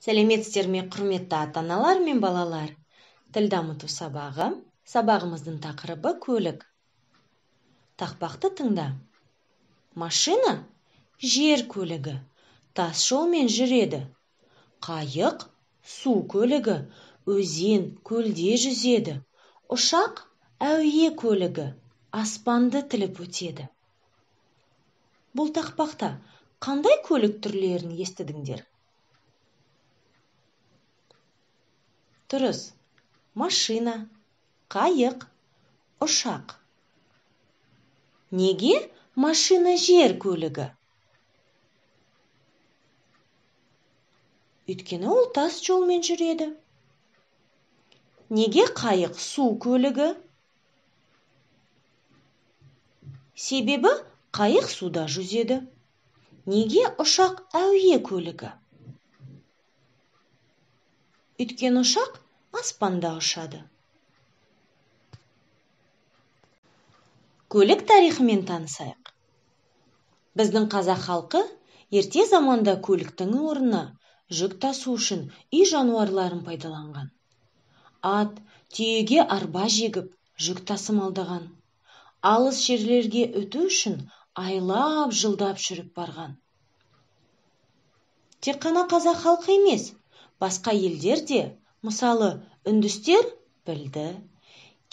Сәлеметсіздер ме, құрметті ата-аналар мен балалар. Тіл дамыту сабағы. Сабағымыздың тақырыбы көлік. Тақпақты тыңда. Машина жер көлігі, тас жолмен жүреді. Қайық су көлігі, өзен, көлде жүзеді. Ұшақ әуе көлігі, аспанды тіліп өтеді. Бұл тақпақта қандай көлік түрлерін естідіңдер? Дұрыс. Машина, қайық, ұшақ. Неге машина жер көлігі? Өйткені ол тас жолмен жүреді. Неге қайық су көлігі? Себебі қайық суда жүзеді. Неге ұшақ әуе көлігі? Өйткені ұшақ аспанда ұшады. Көлік тарихымен танысайық. Біздің қазақ халқы ерте заманда көліктің орнына жүк тасу үшін үй жануарларын пайдаланған. Ат, түйеге арба жегіп, жүк тасымалдаған. Алыс жерлерге өту үшін айлап жылдап жүріп барған. Тек қана қазақ халқы емес, басқа елдер де, мысалы үндістер білді.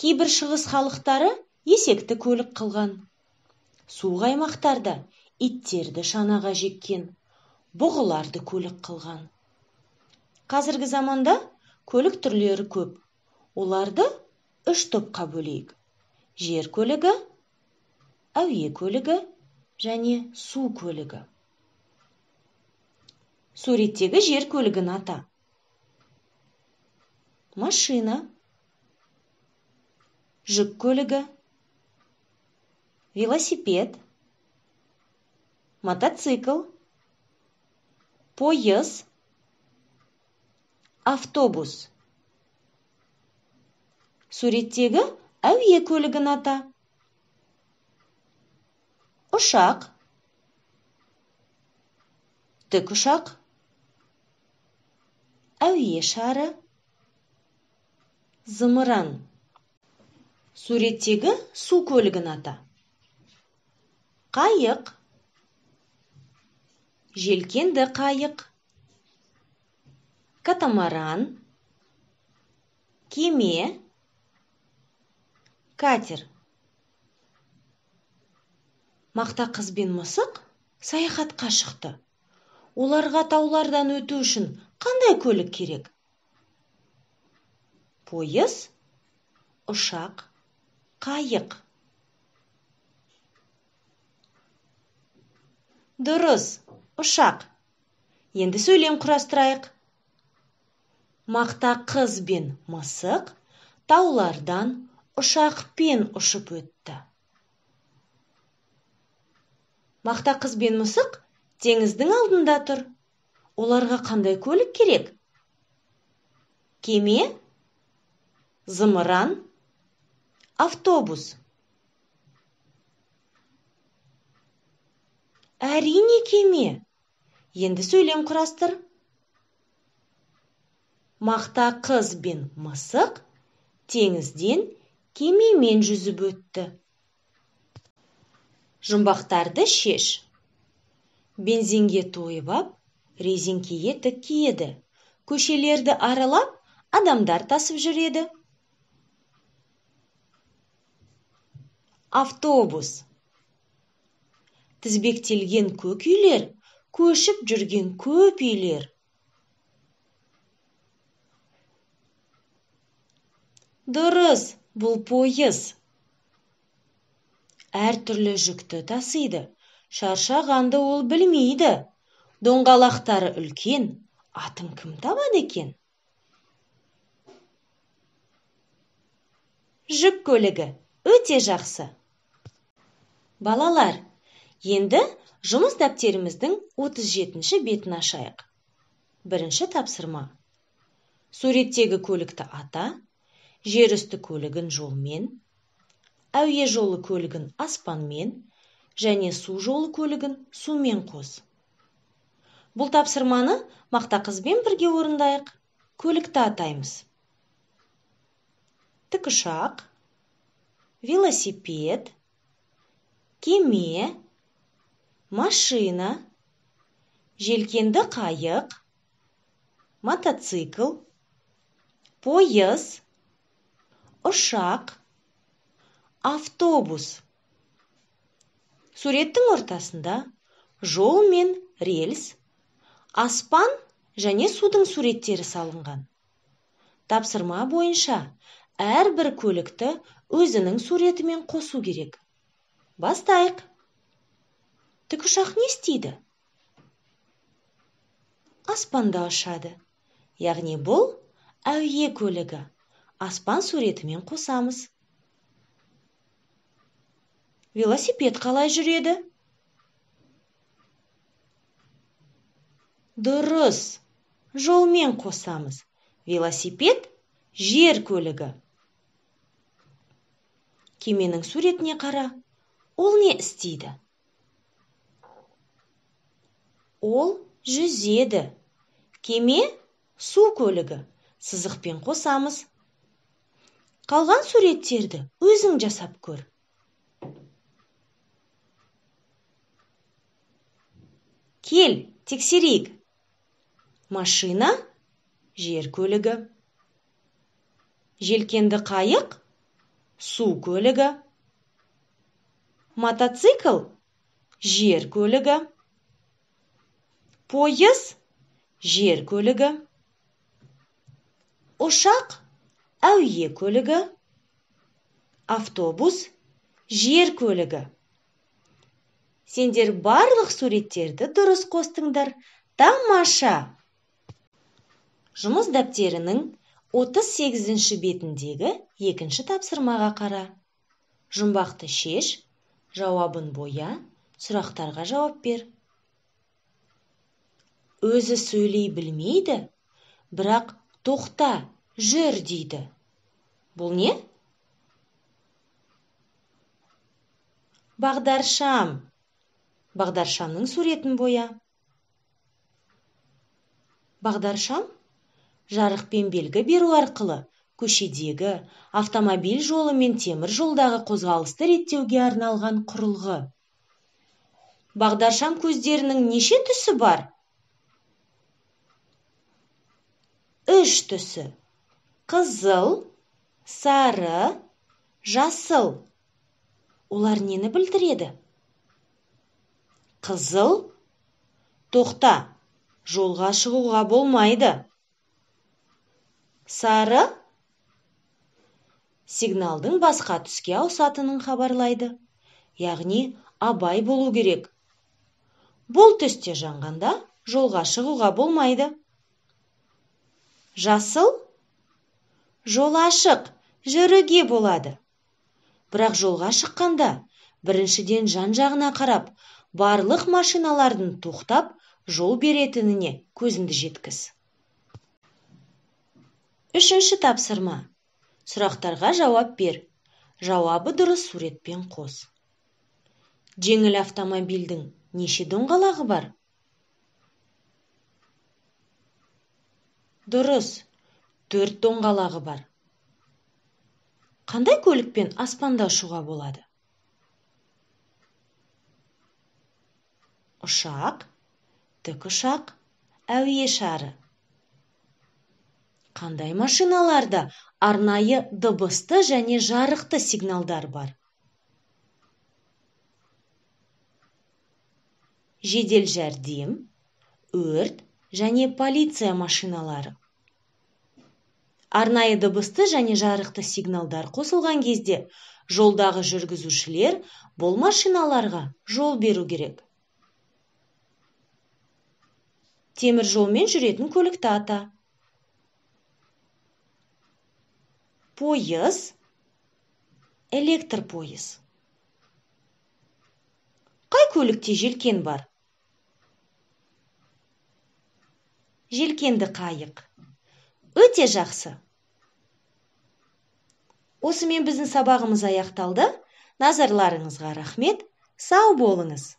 Кейбір шығыс халықтары есекті көлік қылған. Суық аймақтарда иттерді шанаға жеккен, бұғыларды көлік қылған. Қазіргі заманда көлік түрлері көп. Оларды 3 топқа бөлейік. Жер көлігі, әуе көлігі және су көлігі. Суреттегі жер көлігін ата. Машина, жүк көлігі, велосипед, мотоцикл, пойыз, автобус. Суреттегі әуе көлігін ата. Ұшақ, тікұшақ, әуе шары, зымыран. Суреттегі су көлігін ата. Қайық, желкенді қайық, катамаран, кеме, катер. Мақта қыз бен мысық саяхатқа шықты. Оларға таулардан өту үшін қандай көлік керек? Пойыз, ұшақ, қайық. Дұрыс, ұшақ. Енді сөйлем құрастырайық. Мақта қыз бен мысық таулардан ұшақпен ұшып өтті. Мақта қыз бен мысық теңіздің алдында тұр. Оларға қандай көлік керек? Кеме, зымыран, автобус. Әрине кеме. Енді сөйлем құрастыр. Мақта қыз бен мысық теңізден кемемен жүзіп өтті. Жұмбақтарды шеш. Бензинге тойып ап, резеңкеге тік киеді. Көшелерді аралап, адамдар тасып жүреді. Автобус. Тізбектелген көк үйлер, көшіп жүрген көп үйлер. Дұрыс, бұл пойыз. Әр түрлі жүкті тасиды. Шаршағанды ол білмейді. Доңғалақтары үлкен, атын кім табады екен? Жүк көлігі өте жақсы. Балалар, енді жұмыс дәптеріміздің 37-ші бетін ашайық. Бірінші тапсырма. Суреттегі көлікті ата, жер үсті көлігін жолмен, әуе жолы көлігін аспанмен және су жолы көлігін сумен қос. Бұл тапсырманы мақта қызбен бірге орындайық. Көлікті атаймыз. Тікұшақ, велосипед, кеме, машина, желкенді қайық, мотоцикл, пойыз, ұшақ, автобус. Суреттің ортасында жол мен рельс, аспан және судың суреттері салынған. Тапсырма бойынша әрбір көлікті өзінің суретімен қосу керек. Бастайық. Тікұшақ не істейді? Аспанда ұшады. Яғни бұл әуе көлігі. Аспан суретімен қосамыз. Велосипед қалай жүреді? Дұрыс. Жолмен қосамыз. Велосипед жер көлігі. Кеменің суретіне қара. Ол не істейді? Ол жүзеді. Кеме су көлігі. Сызықпен қосамыз. Қалған суреттерді өзің жасап көр. Кел, тексерейік. Машина жер көлігі. Желкенді қайық су көлігі. Мотоцикл жер көлігі. Пойыз жер көлігі. Ұшақ әуе көлігі. Автобус жер көлігі. Сендер барлық суреттерді дұрыс қостыңдар. Тамаша! Жұмыс дәптерінің 38-ші бетіндегі екінші тапсырмаға қара. Жұмбақты шеш, жауабын боя, сұрақтарға жауап бер. Өзі сөйлей білмейді, бірақ тоқта, жүр дейді. Бұл не? Бағдаршам. Бағдаршамның суретін боя. Бағдаршам жарықпен белгі беру арқылы көшедегі, автомобиль жолы мен темір жолдағы қозғалысты реттеуге арналған құрылғы. Бағдаршам көздерінің неше түсі бар? 3 түсі. Қызыл, сары, жасыл. Олар нені білдіреді? Қызыл, тоқта, жолға шығуға болмайды. Сары, сигналдың басқа түске ауысатынын хабарлайды. Яғни, абай болу керек. Бұл түсте жанғанда жолға шығуға болмайды. Жасыл, жол ашық, жүруге болады. Бірақ жолға шыққанда, біріншіден жан-жағына қарап, барлық машиналардың тоқтап, жол беретініне көзіңді жеткіз. 3-ші тапсырма. Сұрақтарға жауап бер. Жауабы дұрыс суретпен қос. Жеңіл автомобильдің неше доңғалағы бар? Дұрыс, 4 доңғалағы бар. Қандай көлікпен аспанда ұшуға болады? Ұшақ, тікұшақ, әуе шары. Қандай машиналарда арнайы дыбысты және жарықты сигналдар бар? Жедел жәрдем, өрт және полиция машиналары. Арнайы дыбысты және жарықты сигналдар қосылған кезде жолдағы жүргізушілер бұл машиналарға жол беру керек. Темір жолмен жүретін көлікті ата. Пойыз, электр пойыз. Қай көлікте желкен бар? Желкенді қайық. Өте жақсы. Осымен біздің сабағымыз аяқталды. Назарларыңызға рахмет. Сау болыңыз.